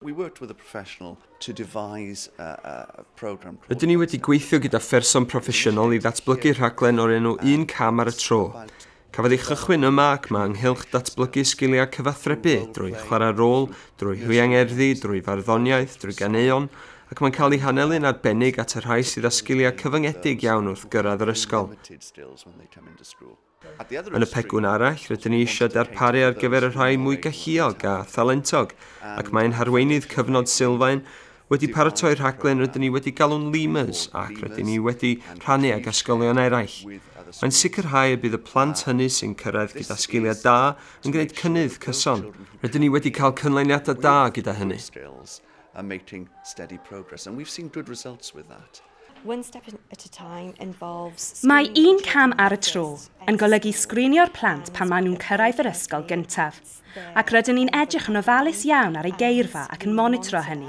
We worked with a professional to devise a program. Rydyn ni wedi gweithio gyda pherson proffesiynol i ddatblygu rhaglen o'r enw Un Cam ar y Tro. Cafodd ei chychwyn yma ac mae ynghylch datblygu sgiliau cyfathrebu drwy chwarae rôl, drwy hwiangerddi, drwy farddoniaeth, drwy ganeuon, ac mae'n cael ei hanelu'n arbennig at y rhai sydd â sgiliau cyfyngedig iawn wrth gyrraedd yr ysgol. Yn y pegwn arall, rydyn ni eisiau darparu ar gyfer y rhai mwy galluog a thalentog, ac mae'n harweinydd cyfnod sylfaen wedi paratoi rhaglen rydyn ni wedi galw'n Lemurs ac rydyn ni wedi rhannu ag ysgolion eraill. Mae'n sicrhau y bydd y plant hynny sy'n cyrraedd gyda sgiliau da yn gwneud cynnydd cyson. Rydyn ni wedi cael canlyniadau da gyda hynny. And making steady progress, and we've seen good results with that. One step at a time involves Mae Un Cam ar y Tro yn golygu sgrinio'r plant pan maen nhw'n cyrraedd yr ysgol gyntaf, ac rydyn ni'n edrych yn ofalus iawn ar eu geirfa ac yn monitro hynny.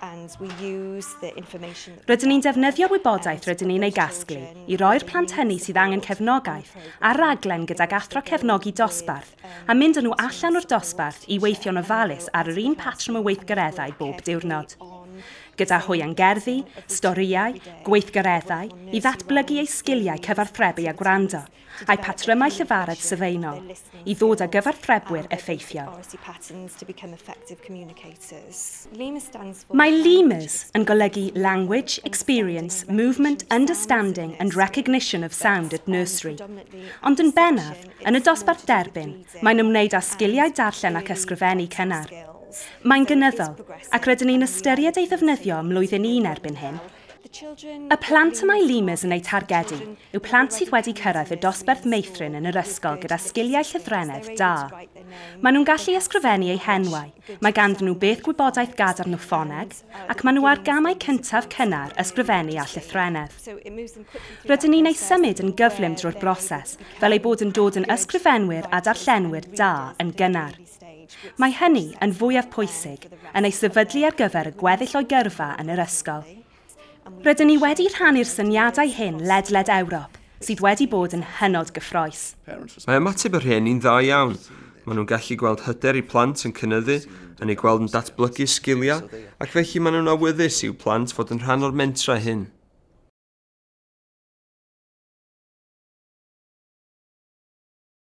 And we use the information Rydyn ni'n defnyddio'r wybodaeth rydyn ni'n ei gasglu i roi'r plant hynny sydd angen cefnogaeth ar raglen gydag athro cefnogi dosbarth a mynd â nhw allan o'r dosbarth i weithio'n ofalus ar yr un patrwm o weithgareddau bob diwrnod, gyda hwiangerddi, storïau, gweithgareddau i ddatblygu eu sgiliau cyfathrebu a gwrando, a'u patrymau llefaredd sylfaenol, i ddod â gyfathrebwyr effeithiol. Oracy patterns to become effective communicators. LEMUR stands for Mae LEMURS yn golygu Language, Experience, Movement, Understanding and Recognition of Sound at Nursery. Ond yn bennaf, yn y dosbarth derbyn, mae'n ymwneud â sgiliau darllen ac ysgrifennu cynnar. Mae'n gynyddol, ac rydyn ni'n ystyried ei ddefnyddio ym mlwyddyn 1 erbyn hyn. Y plant y mae LEMURS yn eu targedu yw plant sydd wedi cyrraedd y dosbarth meithrin yn yr ysgol gyda sgiliau llythrennedd da. Maen nhw'n gallu ysgrifennu eu henwau, mae ganddyn nhw beth gwybodaeth gadarn o ffoneg, ac maen nhw ar gamau cyntaf cynnar ysgrifennu a llythrennedd. Rydyn ni'n eu symud yn gyflym drwy'r broses, fel eu bod yn dod yn ysgrifenwyr a darllenwyr da yn gynnar. Mae hynny yn fwyaf pwysig, yn ei sefydlu ar gyfer y gweddill o'i gyrfa yn yr ysgol. Rydyn ni wedi rhannu'r syniadau hyn ledled Ewrop, sydd wedi bod yn hynod gyffrous. Mae ymateb y rhieni'n dda iawn. Maen nhw'n gallu gweld hyder eu plant yn cynyddu, yn eu gweld yn datblygu sgiliau, ac felly maen nhw'n awyddus i'w plant fod yn rhan o'r mentrau hyn.